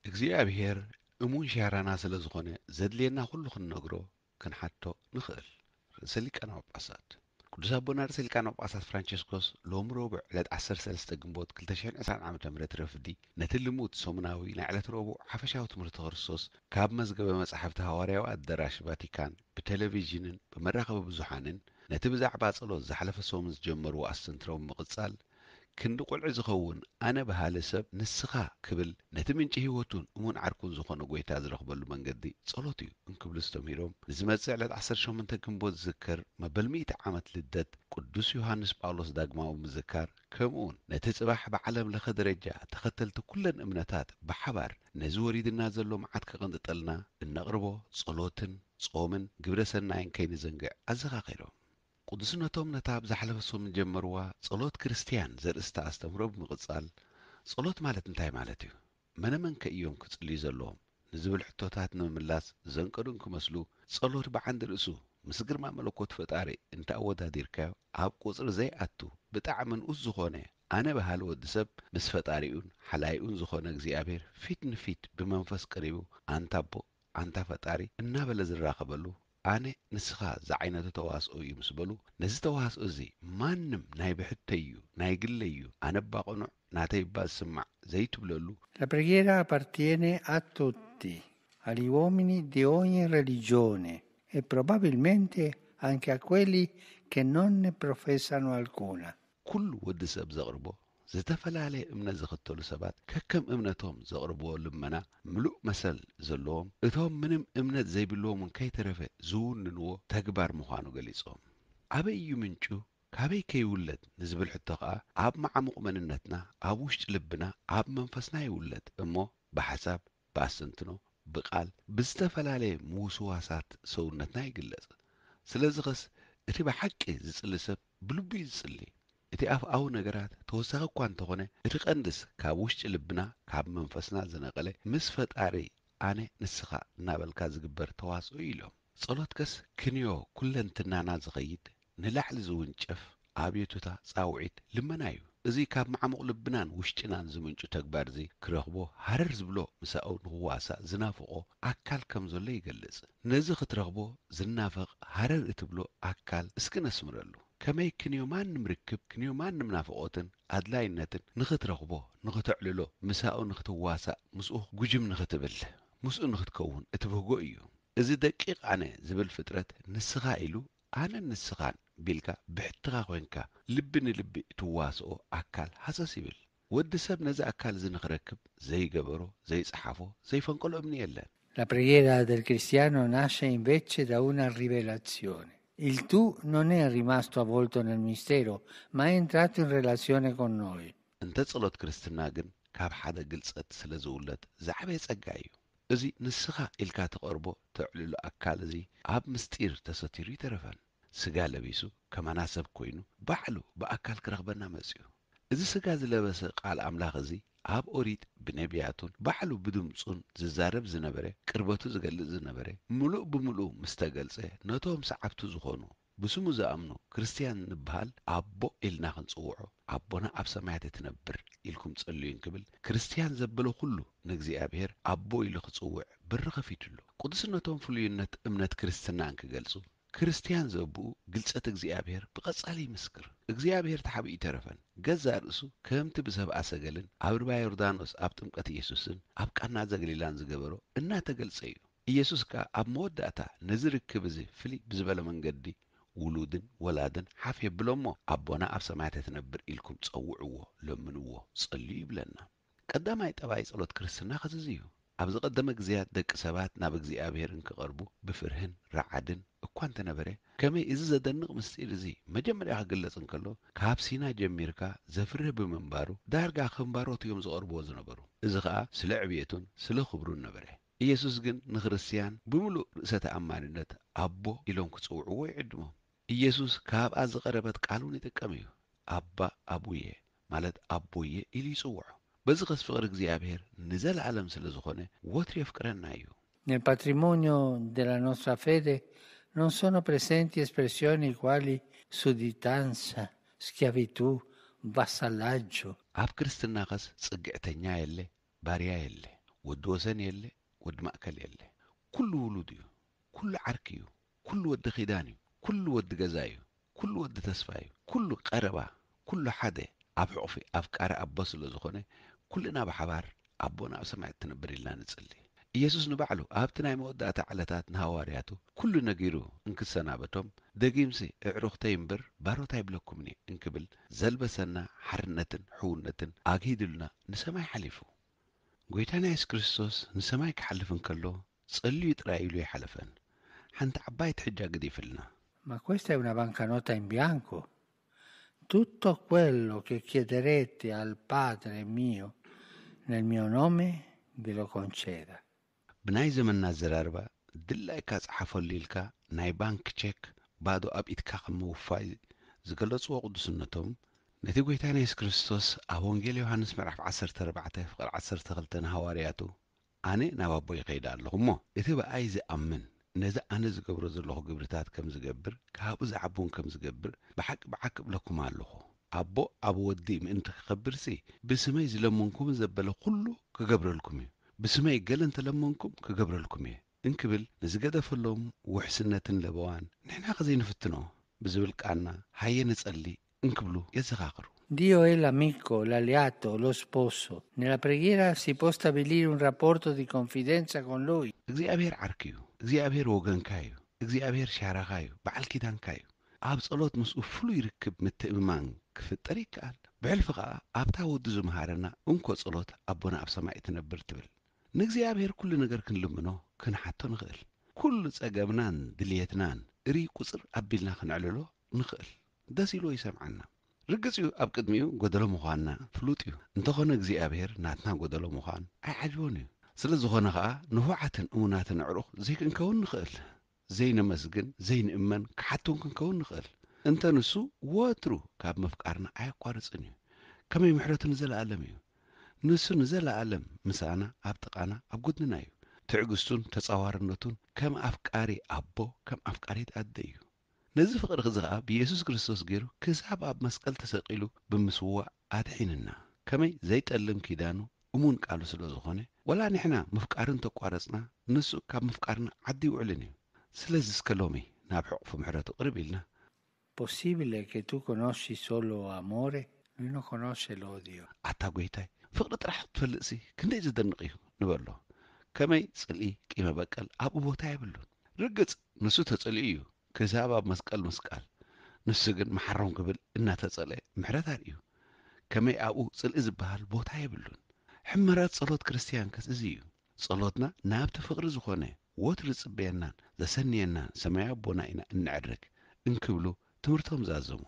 እግዚኣብሔር እሙን ሻራና ስለ ዝኾነ ዘድልየና ኩሉ ክንነግሮ ክንሓቶ ንኽእል። ርእሰ ሊቃነ ጳጳሳት ቅዱስ ኣቦና ርእሰ ሊቃነ ጳጳሳት ፍራንቸስኮስ ሎም ረቡዕ ዕለት ዓሰርተ ሰለስተ ግንቦት ክልተ ሽሕን ዕስራን ዓመተ ምህረት ረፍዲ ነቲ ልሙድ ሰሙናዊ ናይ ዕለት ረቡዕ ሓፈሻዊ ትምህርቲ ክርስቶስ ካብ መዝገበ መጻሕፍቲ ሃዋርያዊ ኣደራሽ ቫቲካን ብቴሌቪዥንን ብመራኸቢ ብዙሓንን ነቲ ብዛዕባ ጸሎት ዝሓለፈ ሰሙን ዝጀመርዎ ኣስተንትሮ ብምቕጻል ክንዲ ቁልዒ ዝኸውን ኣነ በሃሊ ሰብ ንስኻ ክብል ነቲ ምንጪ ህይወቱን እሙን ዓርኩን ዝኾነ ጎይታ ዝረኽበሉ መንገዲ ጸሎት እዩ እንክብሉ ዝተምሂሮም ንዝመጽእ ዕለት ዓሰርተ ሸሞንተ ግንቦት ዝዝከር መበል ሚእቲ ዓመት ልደት ቅዱስ ዮሃንስ ጳውሎስ ዳግማዊ ምዝካር ከምኡውን ነቲ ጽባሕ ብዓለም ለኸ ደረጃ ተኸተልቲ ኩለን እምነታት ብሓባር ነዚ ወሪድና ዘሎ መዓት ከቐንጥጠልና እነቕርቦ ጸሎትን ጾምን ግብረ ሰናይን ከይንዘንግዕ ኣዘኻኺሮም። ቅዱስነቶም ነታ ኣብ ዝሓለፈ ሰሙን ጀመርዋ ጸሎት ክርስትያን ዘርእስታ ኣስተምህሮ ብምቕጻል፣ ጸሎት ማለት እንታይ ማለት እዩ? መነመን ከ እዮም ክጽልዩ ዘለዎም? ንዝብል ሕቶታት ንምምላስ ዘንቀዱ እንክመስሉ፣ ጸሎት ብዓንዲ ርእሱ ምስ ግርማ መለኮት ፈጣሪ እንተኣወዳዲርካዮ፣ ኣብ ቁጽሪ ዘይኣቱ ብጣዕሚ ንኡስ ዝኾነ ኣነ በሃሊ ወዲ ሰብ ምስ ፈጣሪኡን ሓላይኡን ዝኾነ እግዚኣብሔር ፊት ንፊት ብመንፈስ ቀሪቡ ኣንታ ኣቦ ኣንታ ፈጣሪ እናበለ ዝራኸበሉ ኣነ ንስኻ ዝዓይነቱ ተዋስኦ እዩ ምስ በሉ ነዚ ተዋስኦ እዚ ማንም ናይ ብሕተይ እዩ ናይ ግለይ እዩ ኣነ እባ ቅኑዕ ናተይ እባ ዝስማዕ ዘይትብለሉ La preghiera appartiene a tutti, agli uomini di ogni religione e probabilmente anche a quelli che non ne professano alcuna. ኩሉ ወዲ ሰብ ዘቕርቦ ዝተፈላለየ እምነት ዝኽተሉ ሰባት ከከም እምነቶም ዘቕርብዎ ልመና ምሉእ መሰል ዘለዎም እቶም ምንም እምነት ዘይብልዎም እውን ከይተረፈ ዝውንንዎ ተግባር ምዃኑ ገሊጾም ኣበይ እዩ ምንጩ ካበይ ከይውለድ ንዝብል ሕቶ ከኣ ኣብ መዓሙቕ መንነትና ኣብ ውሽጢ ልብና ኣብ መንፈስና ይውለድ እሞ ብሓሳብ ብኣስተንትኖ ብቓል ብዝተፈላለየ ምውስዋሳት ሰውነትና ይግለጽ ስለዚ ኸስ እቲ ብሓቂ ዝጽሊ ሰብ ብልቡ እዩ ዝጽሊ እቲ ኣፍኣዊ ነገራት ተወሳኺ እኳ እንተኾነ እቲ ቀንድስ ካብ ውሽጢ ልብና ካብ መንፈስና ዝነቐለ ምስ ፈጣሪ ኣነ ንስኻ እናበልካ ዝግበር ተዋስኦ እዩ ኢሎም ጸሎትከስ ክንዮ ኩለንትናና ዝኸይድ ንላዕሊ ዝውንጨፍ ኣብዮቱታ ጻውዒት ልመና እዩ እዚ ካብ መዓሙቕ ልብናን ውሽጥናን ዝምንጩ ተግባር እዚ ክረኽቦ ሃረር ዝብሎ ምሳኡ ንኽዋሳእ ዝናፍቖ ኣካል ከም ዘሎ ይገልጽ ነዚ ክትረኽቦ ዝናፈቕ ሃረር እትብሎ ኣካል እስኪ ነስምረሉ ከመይ ክንዮ ማንም ርክብ ክንዮ ማንም ናፍቖትን ኣድላይነትን ንኽትረኽቦ ንኽተዕልሎ ምሳኡ ንኽትዋሳእ ምስኡ ጉጅም ንኽትብል ምስኡ ንኽትከውን እትብህጎ እዩ እዚ ደቂቕ ኣነ ዝብል ፍጥረት ንስኻ ኢሉ ኣነን ንስኻን ቢልካ ብሕትኻ ኮይንካ ልቢ ንልቢ እትዋስኦ ኣካል ሃሰስ ይብል ወዲ ሰብ ነዚ ኣካል እዚ ንኽረክብ ዘይገበሮ ዘይጸሓፎ ዘይፈንቀሎ እምኒ የለን La preghiera del cristiano nasce invece da una rivelazione. Il tu non è rimasto avvolto nel mistero, ma è entrato in relazione con noi. እንተ ጸሎት ክርስትና ግን ካብ ሓደ ግልጸት ስለ ዝውለድ ዝዓበየ ጸጋ እዩ። እዚ ንስኻ ኢልካ ትቐርቦ ተዕልሎ ኣካል እዚ ኣብ ምስጢር ተሰቲሩ ይተረፈን። ስጋ ለቢሱ ከማና ሰብ ኮይኑ ባዕሉ ብኣካል ክረኽበና መጺኡ። እዚ ስጋ ዝለበሰ ቃል ኣምላኽ እዚ ኣብ ኦሪት ብነቢያቱን ባዕሉ ብድምጹን ዝዛረብ ዝነበረ ቅርበቱ ዝገልጽ ዝነበረ ምሉእ ብምሉእ ምስ ተገልጸ ነቶም ሰዓብቱ ዝኾኑ ብስሙ ዝኣምኑ ክርስትያን ንበሃል ኣቦ ኢልና ክንጽውዖ ኣቦና ኣብ ሰማያት እትነብር ኢልኩም ጸልዩ እንክብል ክርስትያን ዘበለ ኩሉ ንእግዚኣብሔር ኣቦ ኢሉ ክጽውዕ በሪ ከፊቱ ኣሎ። ቅዱስነቶም ፍሉይነት እምነት ክርስትና እንክገልጹ ክርስትያን ዘብኡ ግልጸት እግዚኣብሔር ብቐጻሊ ይምስክር። እግዚኣብሔር ተሓቢኡ ይተረፈን ገዛእ ርእሱ ከምቲ ብሰብኣ ሰገልን ኣብ ርባ ዮርዳኖስ ኣብ ጥምቀት ኢየሱስን ኣብ ቃና ዘገሊላን ዝገበሮ እናተገልጸ እዩ። ኢየሱስ ከኣ ኣብ መወዳእታ ነዚ ርክብ እዚ ፍልይ ብዝበለ መንገዲ ውሉድን ወላድን ሓፍ የብሎ እሞ ኣቦና ኣብ ሰማያት እትነብር ኢልኩም ጸውዕዎ፣ ለምንዎ፣ ጸልዩ ይብለና። ቀዳማይ ጠባይ ጸሎት ክርስትና ኸዚ እዩ። ኣብ ዝቐደመ ግዜያት ደቂ ሰባት ናብ እግዚኣብሔር እንክቐርቡ ብፍርህን ረዓድን እኳ እንተነበረ፣ ከመይ እዚ ዘደንቕ ምስጢር እዚ መጀመርያ ክግለጽ እንከሎ ካብ ሲና ጀሚርካ ዘፍርህ ብምንባሩ ዳርጋ ከም ባሮት እዮም ዝቐርብዎ ዝነበሩ። እዚ ኸኣ ስለ ዕብየቱን ስለ ክብሩን ነበረ። ኢየሱስ ግን ንክርስትያን ብምሉእ ርእሰ ተኣማንነት ኣቦ ኢሎም ክጽውዕዎ ይዕድሞም። ኢየሱስ ካብኣ ዝቐረበት ቃል እውን ይጥቀም እዩ። ኣባ ኣቡየ ማለት ኣቦየ ኢሉ ይጽውዖ። በዚ ኸስ ፍቕሪ እግዚኣብሔር ንዘለዓለም ስለ ዝኾነ ወትሩ የፍቅረና እዩ። Nel patrimonio della nostra fede non sono presenti espressioni quali sudditanza, schiavitù, vassallaggio. ኣብ ክርስትና ኸስ ጽግዕተኛ የለ፣ ባርያ የለ። ወዲ ወሰን የለ፣ ወዲ ማእከል የለ። ኩሉ ውሉድ እዩ፣ ኩሉ ዓርኪ እዩ፣ ኩሉ ወዲ ኪዳን እዩ፣ ኩሉ ወዲ ገዛ እዩ፣ ኩሉ ወዲ ተስፋ እዩ፣ ኩሉ ቀረባ፣ ኩሉ ሓደ ኣብ ሕቑፊ ኣፍቃሪ ኣቦ ስለ ዝኾነ፣ ኩልና ብሓባር ኣቦና ኣብ ሰማይ እትነብር ኢልና ንጽሊ። ኢየሱስ ንባዕሉ ኣብቲ ናይ መወዳእታ ዕለታት ንሃዋርያቱ ኩሉ ነጊሩ እንክሰናበቶም፣ ደጊምሲ ኣዕሩኽተይ እምበር ባሮት ኣይብለኩምን እየ እንክብል ዘልበሰና ሓርነትን ሕውነትን ኣግሂድልና ንሰማይ ሓሊፉ። ጎይታና የሱስ ክርስቶስ ንሰማይ ክሓልፍ እንከሎ ጸልዩ ጥራይ ኢሉ ኣይሓለፈን። ሓንቲ ዓባይ ትሕጃ ገዲፍልና። Ma questa è una bancanota in bianco. Tutto quello che chiederete al Padre mio nel mio nome ve lo conceda. ብናይ ዘመንና ኣዘራርባ ድላይካ ጸሓፈሉ ኢልካ ናይ ባንክ ቸክ ባዶ ኣብ ኢድካ ከም ምውፋይ ዝገለጽዎ ቅዱስነቶም፣ ነቲ ጎይታና የሱስ ክርስቶስ ኣብ ወንጌል ዮሃንስ ምዕራፍ ዓሰርተ ኣርባዕተ ፍቕሪ ዓሰርተ ክልተ ንሃዋርያቱ ኣነ ናብ ኣቦ ይኸይድ ኣለኹ እሞ እቲ ብኣይ ዝኣምን ነዚ ኣነ ዝገብሮ ዘለኹ ግብርታት ከም ዝገብር ካብኡ ዝዓቢ እውን ከም ዝገብር ብሓቂ ብሓቂ እብለኩም ኣለኹ። ኣቦ ኣብ ወዲ ምእንቲ ክኸብርሲ ብስመይ ዝለመንኩም ዘበለ ኩሉ ክገብረልኩም እዩ። ብስመይ ገለ እንተለመንኩም ክገብረልኩም እየ እንክብል ንዝገደፈሎም ውሕስነትን ለበዋን ንሕና ከዘይንፍትኖ ብዝብል ቃና ሃየ ንጸሊ እንክብሉ የዘኻኽሩ። Dio è l'amico, l'alleato, lo sposo. Nella preghiera si può stabilire un rapporto di confidenza con Lui. እግዚኣብሔር ዓርኪ እዩ። እግዚኣብሔር ወገንካ እዩ። እግዚኣብሔር ሻራኻ እዩ። በዓል ኪዳንካ እዩ። ኣብ ጸሎት ምስኡ ፍሉይ ርክብ ምትእምማን ክፍጠር ይከኣል። ብሕልፊ ኸኣ ኣብታ ወዱ ዝመሃረና እንኮ ጸሎት ኣቦና ኣብ ሰማይ እትነብር ትብል። ንእግዚኣብሔር ኩሉ ነገር ክንልምኖ ክንሓቶ ንኽእል። ኩሉ ጸገምናን ድልየትናን እርይ ቁጽር ኣቢልና ክነዕልሎ ንኽእል። ደስ ኢልዎ ይሰምዓና። ርግጽ እዩ ኣብ ቅድሚኡ ጎደሎ ምዃንና ፍሉጥ እዩ። እንተኾነ እግዚኣብሔር ናትና ጎደሎ ምዃን ኣይዓጅቦን እዩ። ስለ ዝኾነ ኸኣ ንፉዓትን እሙናትን ኣዕሩኽ ዘይክንከውን ንኽእል። ዘይነመስግን ዘይንእመን ክሓቱን ክንከውን ንኽእል። እንተ ንሱ ወትሩ ካብ ምፍቃርና ኣየቋርጽን እዩ። ከመይ ምሕረቱ ንዘለኣለም እዩ። ንሱ ንዘለኣለም ምሳና ኣብ ጥቓና ኣብ ጎድንና እዩ። ትዕግስቱን ተጻዋርነቱን ከም ኣፍቃሪ ኣቦ ከም ኣፍቃሪት ኣደ እዩ። ነዚ ፍቕሪ እዚ ኸኣ ብየሱስ ክርስቶስ ገይሩ ክሳብ ኣብ መስቀል ተሰቒሉ ብምስዋእ ኣድሒንና። ከመይ ዘይጠልም ኪዳኑ እሙን ቃሉ ስለ ዝኾነ ወላ ንሕና ምፍቃሩ እንተቋረጽና ንሱ ካብ ምፍቃርና ዓዲ ይውዕልን እዩ። ስለዚ እስከ ሎሚ ናብ ሕቑፉ ምሕረቱ ቅርብ ኢልና Possibile che tu conosci solo amore? Lui non conosce l'odio. ኣታ ጎይታይ ፍቕሪ ጥራሕ ክትፈልጥሲ ክንደይ ዝደንቕ እዩ ንበሎ። ከመይ ጽልኢ ቂመ በቀል ኣብኡ ቦታ የብሉን። ርግጽ ንሱ ተጸሊኡ እዩ ክሳብ ኣብ መስቀል ምስቃል። ንሱ ግን መሓሮም ክብል እናተጸለ ምሕረት ኣርእዩ። ከመይ ኣብኡ ጽልኢ ዝበሃል ቦታ የብሉን። ሕመረት ጸሎት ክርስትያን ከስ እዚ እዩ። ጸሎትና ናብቲ ፍቕሪ ዝኾነ ወትሩ ዝጽበየናን ዘሰንየናን ሰማያዊ ኣቦና ኢና እንዕርግ እንክብሉ ትምህርቶም ዛዘሙ።